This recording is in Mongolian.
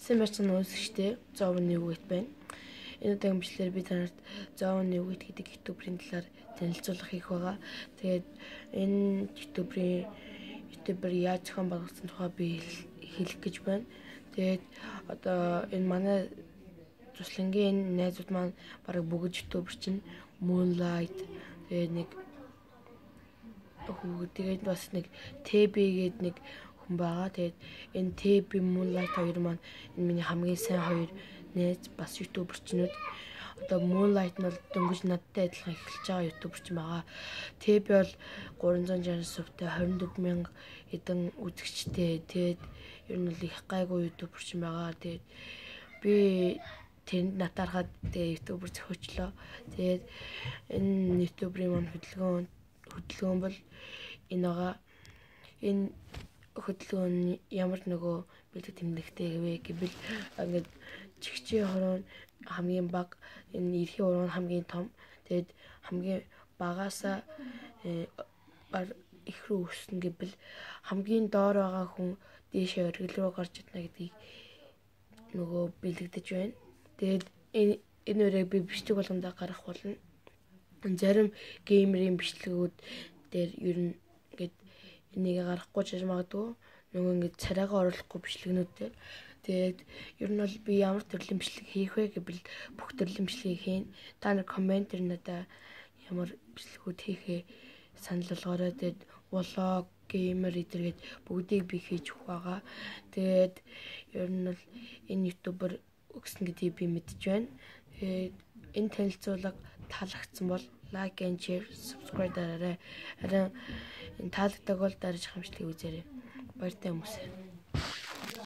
Сайн байцгаана үзэгчдээ. Зовны үгэт байна. Энэ удаагийн бичлэгээр би танарт Зовны үгэт гэдэг ютуберийн талаар танилцуулах хийх байгаа. Тэгээд энэ ютубер яаж зохион байгуулсан тухай би хэлэх гэж байна. Тэгээд одоо энэ манай туслангийн найзууд маань бараг бүгд ютубер чинь Moonlight тэгээд бас нэг TB гээд нэг хүн байгаа. Тэгээд энэ TB Moonlight хоёр маань энэ миний хамгийн сайн хоёр найз бас ютуберчнүүд. Одоо Moonlight нь бол дөнгөж надтай адилхан эхэлж байгаа ютуберч байгаа. TB бол 360 сувтай 24,000 эдэн үзэгчтэй. Тэгээд ер нь бол их гайгүй ютуберч байгаа. Тэгээд би тэнд натаархаад ютубер зохиочлоо. Тэгээд энэ ютуберийн маань хөдөлгөөн бол энэ байгаа. Энэ хөдөлгөөн ямар нөгөө бэлэг тэмдэгтэй гэвэ гэвэл ингээд чигчээ хорон хамгийн бага, энэ эрхийн уран хамгийн том. Тэгээд хамгийн багаасаа их рүү өснө гэвэл хамгийн доор байгаа хүн дээшээ оргил руу гарч идэх гэдгийг нөгөө бэлэгдэж байна. Тэгээд энэ өрөөг би бичлэг болгондоо гаргах болно. Зарим геймерийн бичлэгүүд дээр ер нь ингээд энийг гаргахгүй ч магадгүй нөгөө ингээд царайгаа оруулахгүй бичлэгнүүд дээр. Тэгээд ер нь бол би ямар төрлийн бичлэг хийх вэ гэвэл бүх төрлийн бичлэгийг хийн. Та нар комментээр надад ямар бичлэгүүд хийхээ санал болгоорой. Тэгээд влог, геймер эдэргээд бүгдийг би хийж өгөх байгаа. Тэгээд ер нь бол энэ ютубер өгсөн гэдгийг би мэдж байна. Тэгээд энэ танилцуулга таалагдсан бол like and share, subscribe дараарай. Харин энэ таалагддаг бол дараагийн хамтлагийг үзээрэй. Баяртай хүмүүсээ.